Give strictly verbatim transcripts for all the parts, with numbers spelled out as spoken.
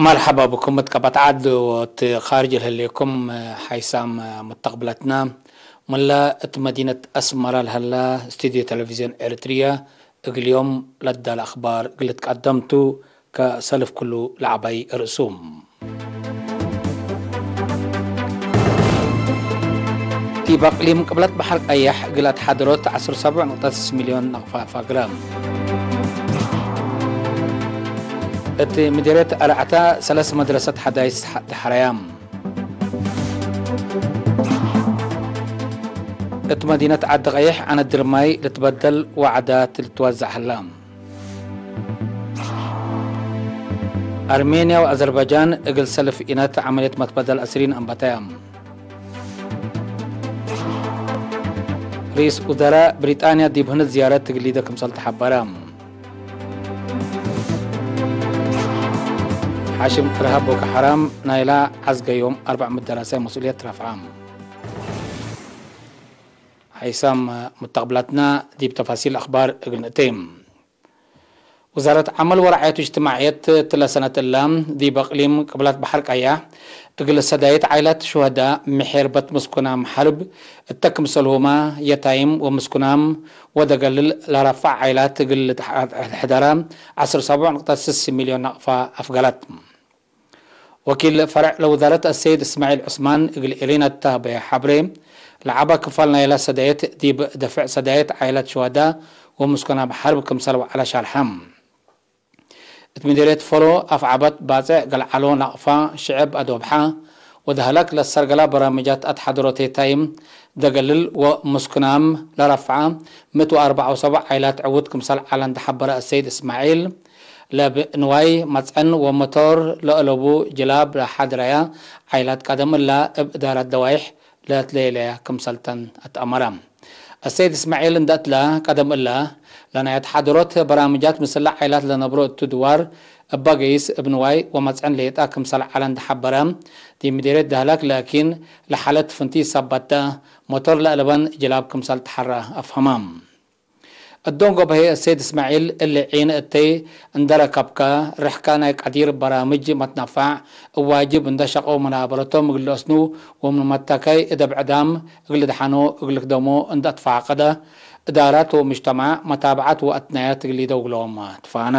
መርሐባ ብኩም እት ቀበት ዐድ ወእት ካርጅ ለህሌኩም ሓይሳም ሙተቅብለትና። ምለ እት መዲነት አስመረ ለሀለ ስቱድዮ ቴሌቪዝዮን ኤረትርየ እግል ዮም ለዳለ አክባር እግል ልትቀደም ቱ። ከሰልፍ ክሉ ለዐባይ ርእሱ። ዲብ አቅሊም ቅብለት በሐር ቀየሕ እግል አትሓድሮት ዐስር ሰቡዕ ንቅጠት ስስ ሚልዮን ነቅፈ ፋግረ። እት ምዲርየት አርዐተ ሰለስ መድረሰት ሐዳይስ ደሐረያ። እት መዲነት ዐዲ ቀይሕ ዐነድ ድርማይ ልትበደል ወዐዳት ልትወዘዕ ሀላ። አርሜንያ ወአዘርባጃን እግል ሰልፍ ኢነት ዐመልየት መትበደል አስሪን አንበተያ። ርኢስ ውዘራእ ብሪጣንያ ዲብ ህንድ ዝያረት ትግሊደ ክምሰል ተሐበረ። ሓሽም እርሃብ ቦኮ ሐራም ናይላ ዐዝገ ዮም አርበዕ ምእት ደራሳይ መስኡልየት ረፍዐ። ሐይሳም ሙተቅብላትና ዲብ ተፋሲል አክባር እግል ንእቴ። ውዛረት ዐመል ወረዓየት እጅትማዕየት እትለ ሰነት እለ፣ ዲብ አቅሊም ቅብላት በሐር ቀያሕ፣ እግል ሰዳይት ዓይላት ሹሀዳ፣ ምሔርበት ምስኩናም ሐርብ እተ ክምሰልሁመ፣ የታይም ወምስኩናም ወደገልል ለረፍዐ ዓይላት እግል ልትሐደረ፣ ዐስር ሰቡዕ ንቅጠት ስስ ሚልዮን ናቅፋ አፍገለት። ወኪል ፈርዕ ለውዛረት አሰይድ እስማዒል ዑስማን እግል ኤሪና እተ ሀበየ ሐብሬ፣ ለዐበ ክፋል ናይለ ሰዳየት ዲብ ደፍዕ ሰዳየት ዓይለት ሹሀዳ ወምስኩናም ሐርብ ክምሰል ወዐለ ሻርሐ። እት ምዲርየት ፎሎ አፍዐበት ባጽዕ ገልዐሎ ናቅፋ ሽዕብ አዶብሐ ወደህለክ ለሰርገላ በራምጃት አትሓድሮቴ ታይም ደገልል ወምስኩናም ለረፍዐ ምእት ወአርበዕ ወሰቡዕ ዓይላት ዕዉት ክምሰል ዐለ እንዴ ሐበረ አሰይድ እስማዒል፣ ለብ ንዋይ መጽዕን ወመቶር ለአለቡ ጅላብ ለሐድረያ ዓይላት ቀደም እለ እብ እዳረት ደዋይሕ ለትሌለያ ክምሰልተን አትአመረ። አሰይድ እስማዒል እንዴ እትለ፣ ቀደም እለ ለናይ አትሓድሮት በራምጃት ምስለ ዓይላት ለነብሮ እቱ ድዋር እበ ገይስ እብ ንዋይ ወመጽዕን ሌጠ ክምሰል ዐለ እንዴ ሐበረ፣ ዲብ ምዲርየት ደህለክ ላኪን ለሓለት ፍንቲይ ሰበት ተ፣ ሞቶር ለአለበን ጅላብ ክምሰል ተሐረ አፍሀመ። እዶን ገብሀይ አሰይድ እስማዒል፣ እሊ ዒን እተይ እንዴ ረከብከ፣ ርሕከ ናይ ቀዲር በራምጅ መትነፋዕ እብ ዋጅብ እንዴ ሸቀው መናበረቶም እግል ለአስኑ ወምን መተከይ እደ ብዕዳም እግል ልድሐኖ እግል ልክደሞ እንዴ አትፋቀደ፣ እዳራት ወሙጅተማዕ መታብዐት ወአትናያት እግል ኢደውግሎም ትፋነ።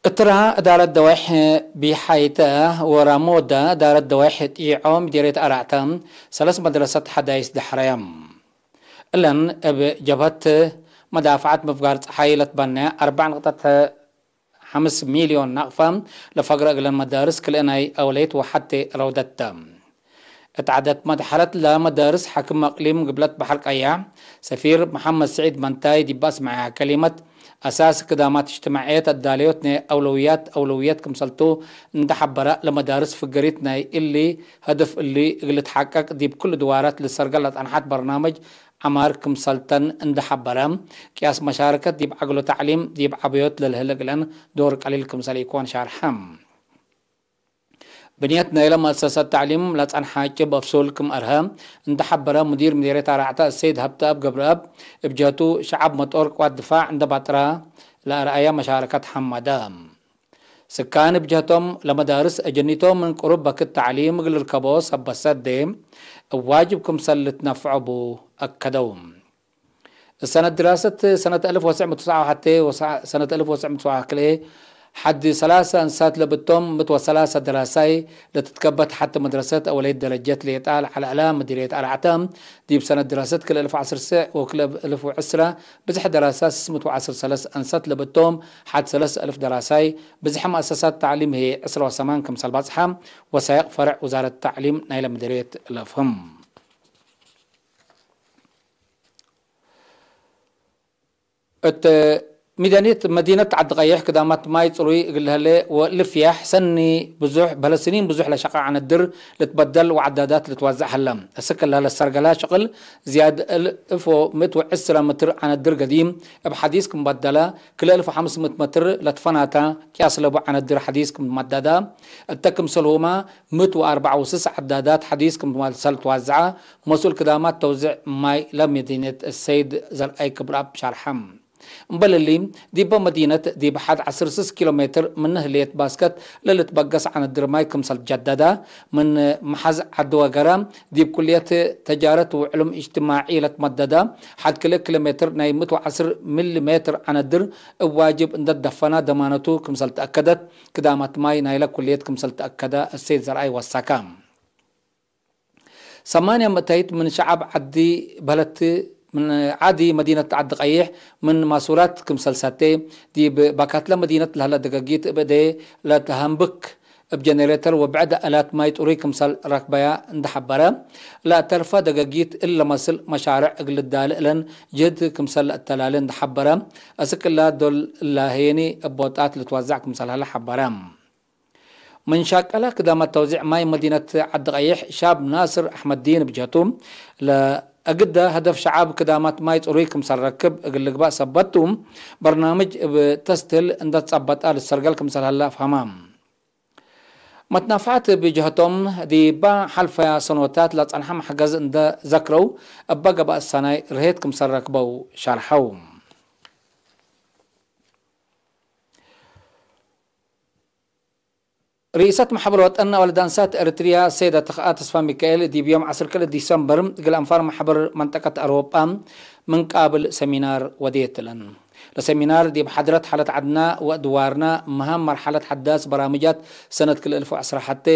እትራ እዳረት ደዋይሕ ቢሓይተ ወራሞዳ እዳረት ደዋይሕ ጢዖ ምዲርየት አርዐተ ሰለስ መድረሰት ሐዳይስ ደሐረየ። እለን እብ ጀብሀት መዳፍዐት ምፍጋር ጸሓይ ለትበነ አርበዕ ንቅጠት ሐምስ ሚልዮን ናቅፋ ለፈግረ እግለን መዳርስ ክልኤ ናይ አውለይት ወሐቴ ረውደት ተ። እት ዐደት መድሐለት ለመዳርስ ሐክም አቅሊም ግብለት በሐር ቀያሕ ሰፊር መሐመድ ስዒድ መንታይ ዲብ አስመዐያ ከሊመት፣ አሳስ ክዳማት እጅትማዕየት አዳለዮት ናይ አውለውያት አውለውየት ክምሰልቱ እንዴ ሐበረ፣ ለመዳርስ ፍገሪት ናይ እሊ ሀደፍ እሊ እግል ልትሐቀቅ ዲብ ክሉ ድዋራት ልትሰርገል ለጸንሐት በርናምጅ ዐማር ክምሰልተን እንዴ ሐበረ፣ ቅያስ መሻረከት ዲብ ዐግሎ ተዕሊም ዲብ ዐበዮት ለልህለ እግለን ዶር ቀሊል ክምሰል ኢኮን ሻርሐ። ብንየት ናይለ መአሰሰት ተዕሊም ለጸንሐ ጭብ አፍሱል ክም አርሀ እንዴ ሐበረ ሙዲር ምዴርየት አርዐተ አሰይድ ሀብተአብ ገብረአብ፣ እብ ጀህቱ ሸዐብ መጦር ቅዋት ድፋዕ እንዴ ባጥራ ለአርአየ መሻረከት ሐመደ። ስካን እብ ጀህቶም ለመዳርስ አጀኒቶም ምን ቅሩብ በክት ተዕሊም እግል ልርከቦ ሰበት ሰዴ እብ ዋጅብ ክምሰል ልትነፍዖ ቡ አከደው። ሰነት ድራሰት ሰነት አልፍ ወትሰዕ ምእት ወትስዓ ወሐቴ ወሰ-፣ ሰነት አልፍ ወትሰዕ ምእት ወትስዓ ወክልኤ ሐድ ሰላሰ አንሳት ለብቶም ምእት ወሰላሰ ደራሳይ ለትትከበት ሐቲ መድረሰት አወለይት ደረጀት ሌጣ ለዐለ እላ ምዲርየት አርዐተ፣ ዲብ ሰነት ድራሰት ክልኤ አልፍ ወዐስር ወክልኤ አልፍ ወዕስረ ብዝሕ ደራሳት ስስ ምእት ወዐስር ሰለስ አንሳት ለብቶም ሐድ ሰለስ አልፍ ደራሳይ፣ ብዝሕ መአሰሳት ተዕሊም ህዬ ዕስረ ወሰማን ክምሰል ባጽሐ ወሳይቅ ፈርዕ ውዛረት ተዕሊም ናይለ ምዲርየት ለፍህም። እት ሚዛንየት መዲነት ዐዲ ቀይሕ ክዳማት ማይ ጽሩይ እግል ለህሌ ወልፍያሕ ሰኒ ብዙሕ፣ በህለ ስኒን ብዙሕ ለሸቀ ዐነድር ልትበደል ወዐዳዳት ልትወዘዕ ሀለ። እስክ እለ ለሰርገላ ሽቅል ዝያድ እል እፎ ምእት ወዕስረ ምትር ዐነድር ገዲም እብ ሐዲስ ክም በደለ፣ ክልኤ እልፍ ወሐምስ ምእት መትር ለትፈናተ ቅያስ ለቡ ዐነድር ሐዲስ ክም መደደ፣ እተ ክምሰልሁመ ምእት ወአርበዕ ወስስ ዐዳዳት ሐዲስ ክም መሰል ትወዘዐ፣ መስኡል ክዳማት ተውዚዕ ማይ ለመዲነት ሰይድ ዘርአይ ክብረአብ ሸርሐ። እምበል እሊ፣ ዲበ መዲነት ዲብ ሐድ ዐስር ስስ ኪሎ ሜትር ምን ህሌት ባስከት ለልትበገስ ዐነድር ማይ ክምሰል ትጀደደ፣ ምን መሐዝ ዐዲ ወገረ ዲብ ኩልየት ተጃረት ወዕሉም እጅትማዒ ለትመደደ፣ ሐድ ክልኤ ኪሎ ሜትር ናይ ምእት ወዐስር ሚሊ ሜትር ዐነድር እብ ዋጅብ እንደ ትደፈነ ደማነቱ ክምሰል ተአከደት፣ ክዳማት ማይ ናይለ ኩልየት ክምሰል ተአከደ እሰይድ ዘርአይ ወሰከ። ሰማንያ ምእተይት ምን ሸዐብ ዐዲ በህለት ምን ዐዲ መዲነት ዐዲ ቀይሕ ምን ማሱራት ክምሰል ሰቴ፣ ዲብ ባካትለ መዲነት ለህለ ደገጊት እብ እዴ ለተሀንብክ እብ ጀነሬተር ወብዕድ አላት ማይ ጥሩይ ክምሰል ረክበያ እንደ ሐበረ፣ ለአተርፈ ደገጊት እለ መስል መሻርዕ እግል ልዳለ እለን ጅህድ ክምሰል ለአተላሌ እንደ ሐበረ፣ አስክ እላ ዶል እለ ሄኒ እብ ቦጣት ልትወዘዕ ክምሰል ሀለ ሐበረ። ምን ሻቀለ ክዳማት ተውዚዕ ማይ መዲነት ዐዲ ቀይሕ ሻብ ናስር አሕመድዲን ብጀቱ፣ ለእግደ ሀደፍ ሸዓብ ክዳማት ማይ ጽሩይ ክምሰል ረክብ እግል ልግባእ ሰበት ቱ፣ በርናምጅ እብ ተስትህል እንደ ትጸበጠ ልትሰርገል ክምሰል ሀለ አፍሀመ። መትናፍዐት ብጀህቶም፣ ዲባ ሐልፈያ ሰኖታት ለጸንሐ መሕገዝ እንደ ዘክረው፣ እበ ገብአት ሰናይ ርሄት ክምሰል ረክበው ሸርሐው። ርኢሰት መሕበር ወጠን አወልድ አንሳት ኤረትርያ ሰይደ ተኽአ ተስፋሚካኤል ዲብ ዮም ዐስር ክልኤ ዲሰምበር እግል አንፋር መሕበር መንጠቀት አውሮጳ ምን ቃብል ሰሚናር ወዴት እለን። ለሰሚናር ዲብ ሐድረት ሐለት ዐድና ወእድዋርና መሃም መርሐለት ሐዳስ በራምጃት ሰነት ክልኤ እልፍ ወዐስራ ሐቴ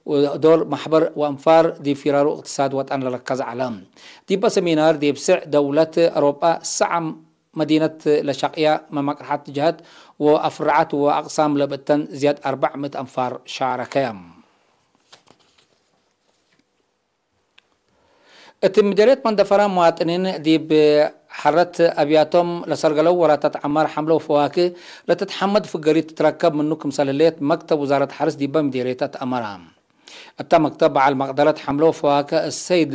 ወዶር መሕበር ወአንፋር ዲብ ፊራሩ እቅትሳድ ወጠን ለረከዘ ዐለ። ዲበ ሰሚናር ዲብ ስዕ ደውለት አውሮጳ ሰዓ መዲነት ለሸቅያ መመቅርሐት ጀሀት ወአፍረዓት ወአቅሳም ለብእተን ዝያድ አርበዕ ምእት አንፋር ሻረከ። እት ምደርየት መንደፈራ መዋጥኒን ዲብ ሐረት አብያቶም ለሰርገለው ወራታት ዐማር ሐምለ ወፈዋክህ ለትትሐመድ ፍገሪት ትትረከብ ምኑ ክምሰል ህሌት መክተብ ውዛረት ሐርስ ዲበ ምዴርየት አትአመረ። እተ መክተብ በዐል መቅደረት ሐምለ ወፈዋክህ እሰይድ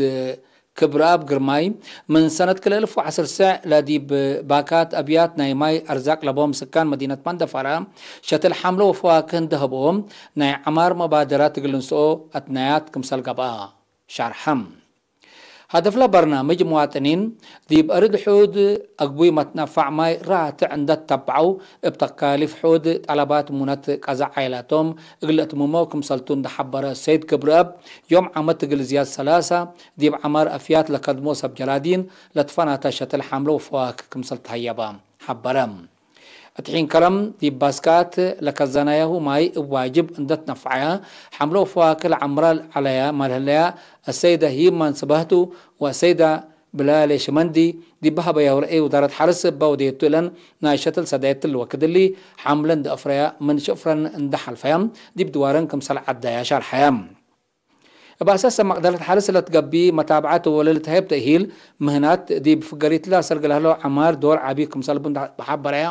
ክብረአብ ግርማይ፣ ምን ሰነት ክልኤ እልፍ ወዐስር ሰዕ ለዲብ ባካት አብያት ናይ ማይ አርዛቅ ለቦም ስካን መዲነት መንደፈራ ሸትል ሐምለ ወፈዋክህ እንደ ሀብኦም፣ ናይ ዐማር መባደራት እግል ንስኦ አትናያት ክምሰል ገብአ ሸርሐ። ሀደፍለ በርናምጅ፣ መዋጥኒን ዲብ አርድ ሑድ አግቡይ መትነፋዕ ማይ ራትዕ እንደ ተተብዐው፣ እብ ተካሊፍ ሑድ ጠለባት ሙነት ቀዛ ዓይላቶም እግል ለእትምሞ ክምሰልቱ እንደ ሐበረ ሰይድ ክብረአብ፣ ዮም ዓመት እግል ዝያድ ሰላሳ ዲብ ዐማር አፍያት ለከድሞ ሰብ ጀራዲን ለትፈናተ ሸትል ሐምለ ወፈዋክህ ክምሰል ተሀየበ ሐበረ። እት ሒን ከረም ዲብ ባስካት ለከዘናያሁ ማይ እብ ዋጅብ እንደ ትነፈዐያ፣ ሐምለ ወፈዋክህ ለዐምራ ዐለያ መልህለያ አሰይደ ሂማን ስበህቱ ወአሰይደ ብላሌ ሽመንዲ ዲብ ሀበያሁ ረኤ ውዛረት ሐርስ እበ ወዴቱ እለን ናይ ሸትል ሰዳይት እሊ ወክድ እሊ ሐምለ እንደ አፍረያ ምን ሽፍረን እንደ ሐልፈያ ዲብ ድዋረን ክምሰል ዐዳያ ሻርሐያ። እብ አሳሰ መቅደረት ሐርስ ለትገብእ መታብዐት ወለልትሀይብ ተእሂል ምህናት ዲብ ፍገሪትለ አሰርግ ለህለው ዐማር ዶር ዐቢ ክምሰል ቡ በሐበረያ፣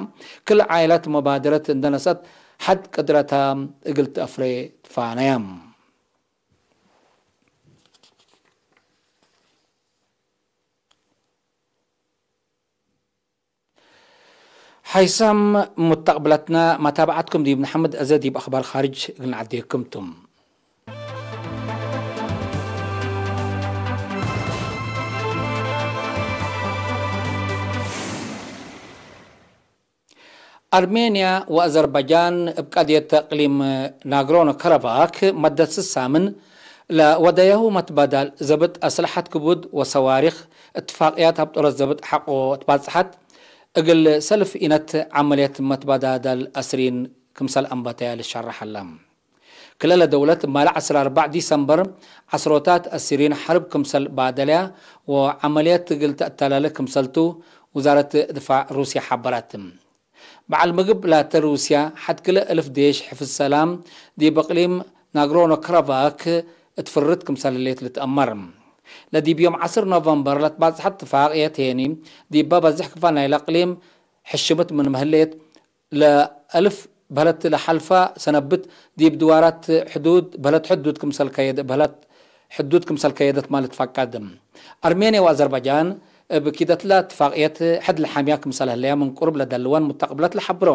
ክል ዓይላት መባደረት እንደ ነሰአት ሐድ ቅድረታ እግል ተአፍሬ ትፋነየ። ሐይሳም ሙተቅብለትና መታብዐትኩም ዲብ ነሐምድ አዜ ዲብ አኽባር ካርጅ እግል ነዐዴኩም ቱ። አርሜንያ ወአዘርባጃን እብ ቀድየት እቅሊም ናግሮኖ ከረባክ መደት ስሳምን ለወደያሁ መትባዳል ዘብጥ አስለሐት ክቡድ ወሰዋሪክ እትፋቅያት ሀብጦረት ዘብጥ ሐቆ ትባጽሐት፣ እግል ሰልፍ ኢነት ዐመልየት መትባዳዳል አስሪን ክምሰል አንበተያ ልሸረሕ ሀለ። ክለ ለደውለት ማለ ዐስር አርበዕ ዲሰምበር ዐስሮታት አሲሪን ሐርብ ክምሰል ባደለያ ወዐመልየት እግል ተአተላለ ክምሰልቱ ውዛረት ድፋዕ ሩስያ ሐበረት። በዐል ምግብ ላተ ሩስያ ሐድ ክለ እልፍ ዴሽ ሕፍዝ ሰላም ዲብ እቅሊም ናግሮኖ ክራባክ እት ፍርት ክምሰል ህሌት ልትአመር። ለዲብ ዮም ዐስር ኖቨምበር ለትባጽሐት ትፋቅየት ሄኒ፣ ዲበ በዝሕ ክፋል ናይለ እቅሊም ሕሽምት ምንመ ህሌት፣ ለአልፍ በህለት ለሐልፋ ሰነብት ዲብ ድዋራት ሕዱድ በህለት ሕዱድ ክምሰል ከየደ-፣ በህለት ሕዱድ ክምሰል ከየደት ማለት ትፋቀድ። አርሜንያ ወአዘርባጃን እብ ኪደትላ እትፋቅየት ሕድ ለሐምያ ክምሰል ህለያ ምን ቁርብ ለደልወን ሙተቅብለት ለሐብሮ።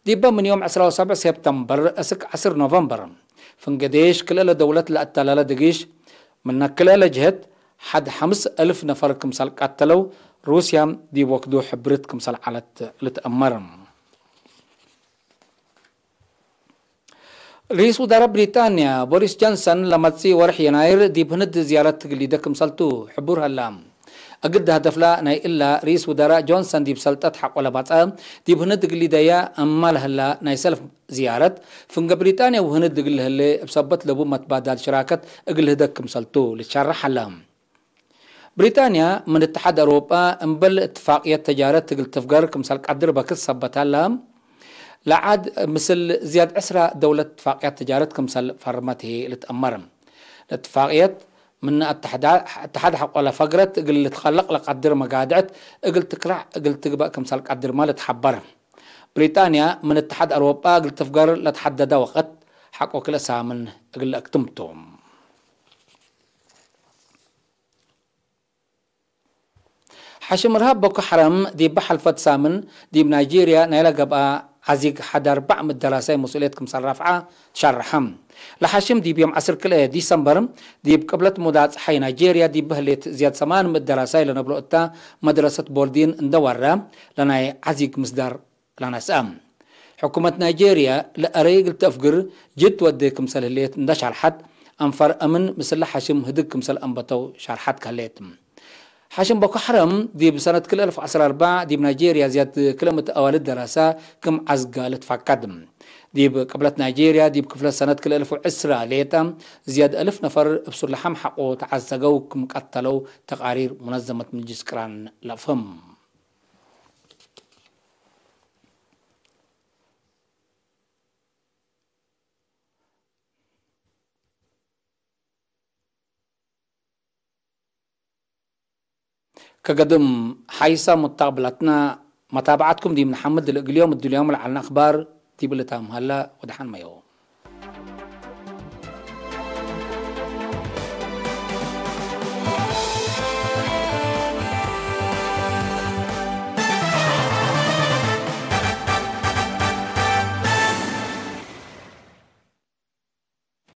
ዲበ ምን ዮም ዕስራ ወሰብዕ ሴፕተምበር እስክ ዐስር ኖቨምበር፣ ፍንገዴሽ ክልኤ ለደውለት ለአተላለ ድጊሽ፣ ምነ ክልኤ ለጅህት ሐድ ሐምስ እልፍ ነፈር ክምሰል ቀተለው፣ ሩስያም ዲብ ወክዱ ሕብርት ክምሰል ዐለት ልትአመር። ርኢስ ውዛረ ብሪጣንያ ቦሪስ ጆንሰን ለመጽእ ወርሕ የናይር ዲብ ህንድ ዝያረት እግል ሊደ ክምሰልቱ ሕቡር ሀላ። እግል ሀደፍላ ናይ እላ ርኢስ ውዛረ ጆንሰን ዲብ ሰልጠት ሐቆ ለባጽአ ዲብ ህንድ እግል ሊደየ እማ ለህላ ናይ ሰልፍ ዝያረት፣ ፍንገ ብሪጣንያ ወህንድ እግል ለህሌ እብ ሰበት ለቡ መትባዳል ሽራከት እግል ልህደግ ክምሰልቱ ልትሸረሕ ሀላ። ብሪጣንያ ምን እትሓድ አውሮጳ እምበል እትፋቅየት ተጃረት እግል ትፍገር ክምሰል ቀድር በክት ሰበት ሀላ። ለዓድ ምስል ዝያድ ዕስራ ደውለት እትፋቅያት ተጃረት ክምሰል ፈርመት ህይ ልትአመር። ለእትፋቅየት ምን አተሐዳ-፣ አተሓድ ሐቆ ለፈግረት እግል ልትከለቅ ለቀድር መጋድዕት እግል ትክላዕ እግል ትግበእ ክምሰል ቀድርመ ልትሐበር። ብሪጣንያ ምን እትሓድ አውሮጳ እግል ትፍገር ለተሐደደ ወቅት ሐቆ ክልኤ ሳምን እግል ለአክትም ቱ። ሐሽም እርሃብ ቦኮ ሐረም ዲበ ሐልፈት ሳምን ዲብ ናይጄርያ ናይለ ገብአ ዐዚግ ሐድ አርበዕ ምእት ደራሳይ መስኡልየት ክምሰል ረፍዐ ትሸረሐ። ለሐሽም ዲብ ዮም ዐስር ክልኤ ዲሰምበር ዲብ ቅብለት ሙዳይ ጸሓይ ናይጄርያ ዲብ ህሌት ዝያድ ሰማን ምእት ደራሳይ ለነብሎ እተ መድረሰት ቦርዲን እንደ ወረ ለናይ ዐዚግ ምስዳር ለነስአ። ሕኩመት ናይጄርያ ለአረይ እግል ተአፍግር ጅድ ወዴ ክምሰል ህሌት እንደ ሸርሐት፣ አንፋር አምን ምስለ ሐሽም ህድግ ክምሰል አንበተው ሸርሐት ከህሌት። ሐሽም ቦኮ ሐረም ዲብ ሰነት ክልኤ አልፍ ወዐስር ወአርበዕ ዲብ ናይጄርያ ዝያድ ክልኤ ምእት አዋልድ ደራሳ ክም ዐዝጋ ልትፋቀድ። ዲብ ቅብለት ናይጄርያ ዲብ ክፍለት ሰነት ክልኤ አልፍ ወዐስር ሌጠ ዝያድ አልፍ ነፈር እብ ሱለሐም ሐቆ ተዐዘገው ክም ቀተለው ተቃሪር ሙነዘመት ምጅልስ ቅራን ለአፍህም። ከገድም ሐይሳ ሙተቅብላትና መታብዐትኩም ዲብ ነሐምድ፣ ለእግል ዮም እድልዮም ለዐልነ አክባር ዲብ ልታም ሀላ። ወደሐን መዮ።